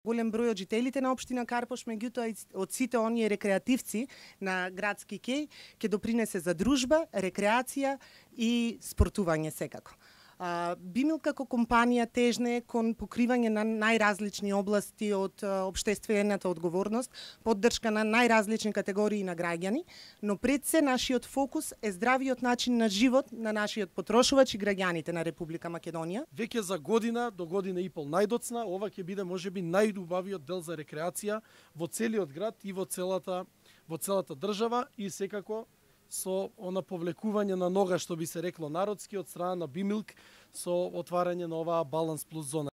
Голем број од жителите на општина Карпош, меѓутоа и од сите оние рекреативци на градски кеј, ќе допринесе за дружба, рекреација и спортување секако. Бимил како компанија тежне кон покривање на најразлични области од општествената одговорност, поддршка на најразлични категории на граѓани, но пред се нашиот фокус е здравиот начин на живот на нашиот потрошувач и граѓаните на Република Македонија. Веќе за година до година и пол најдоцна, ова ќе биде можеби најубавиот дел за рекреација во целиот град и во целата држава и секако со она повлекување на нога, што би се рекло народски, од страна на Бимилк, со отварање на оваа Баланс Плюс зона.